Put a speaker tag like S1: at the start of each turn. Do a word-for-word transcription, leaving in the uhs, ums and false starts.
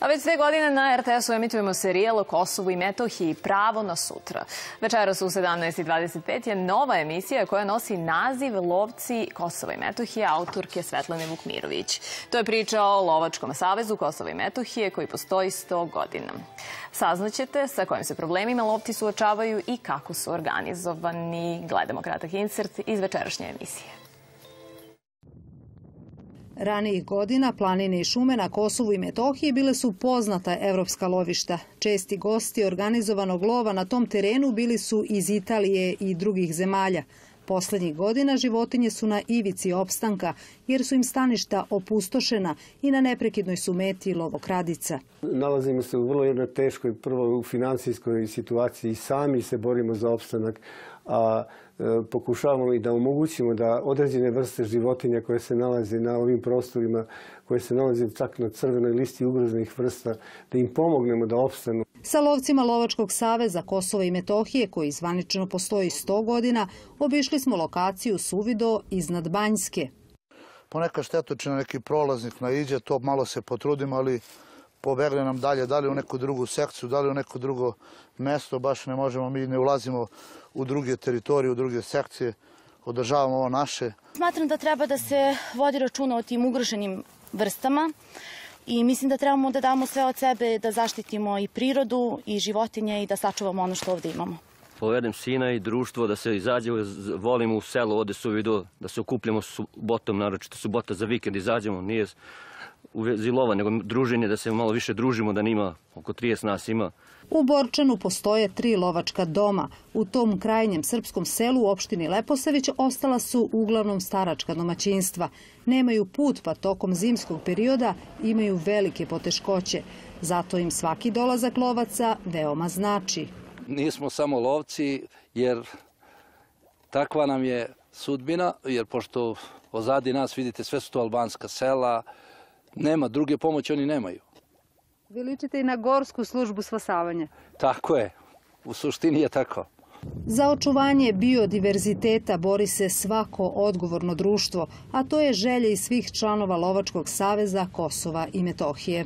S1: A već dve godine na er te esu emitujemo serijal o Kosovu i Metohiji Pravo na sutra. Večeras u sedamnaest i dvadeset pet je nova emisija koja nosi naziv Lovci Kosova i Metohije autorke Svetlane Vukmirović. To je priča o Lovačkom savezu Kosova i Metohije koji postoji sto godina. Saznaćete sa kojim se problemima lovci suočavaju i kako su organizovani. Gledamo kratak insert iz večerašnje emisije.
S2: Ranijih godina planine i šume na Kosovu i Metohiji bile su poznata evropska lovišta. Česti gosti organizovanog lova na tom terenu bili su iz Italije i drugih zemalja. Poslednjih godina životinje su na ivici opstanka jer su im staništa opustošena i na neprekidnoj su meti lovokradica.
S3: Nalazimo se u vrlo jednoj teškoj, prvo u finansijskoj situaciji, sami se borimo za opstanak, a pokušavamo i da omogućimo da određene vrste životinja koje se nalaze na ovim prostorima, koje se nalaze čak na crvenoj listi ugroženih vrsta, da im pomognemo da opstanu.
S2: Sa lovcima Lovačkog saveza Kosova i Metohije, koji zvanično postoji sto godina, obišli smo lokaciju Suvido iznad Banjske.
S4: Ponekad štetočina neki prolaznik naiđe, to malo se potrudimo, ali pobegli nam dalje, da li u neku drugu sekciju, da li u neko drugo mesto, baš ne možemo, mi ne ulazimo u druge teritorije, u druge sekcije, održavamo ovo naše.
S5: Smatram da treba da se vodi računa o tim ugroženim vrstama i mislim da trebamo da damo sve od sebe da zaštitimo i prirodu i životinje i da sačuvamo ono što ovdje imamo.
S6: Povedem sina i društvo da se izađe, volimo u selo, ovdje Suvido, da se okupljamo subotom, naročito subota za vikend, izađemo, nije u vezi lova, nego druženje, da se malo više družimo, da nima, oko trideset nas ima.
S2: U Borčanu postoje tri lovačka doma. U tom krajnjem srpskom selu u opštini Leposavić ostala su uglavnom staračka domaćinstva. Nemaju put, pa tokom zimskog perioda imaju velike poteškoće. Zato im svaki dolazak lovaca veoma znači.
S7: Nismo samo lovci, jer takva nam je sudbina, jer pošto ozadi nas, vidite, sve su to albanska sela, nema druge pomoći, oni nemaju.
S2: Vi ličite i na gorsku službu spasavanja.
S7: Tako je, u suštini je tako.
S2: Za očuvanje biodiverziteta bori se svako odgovorno društvo, a to je želja i svih članova Lovačkog saveza Kosova i Metohije.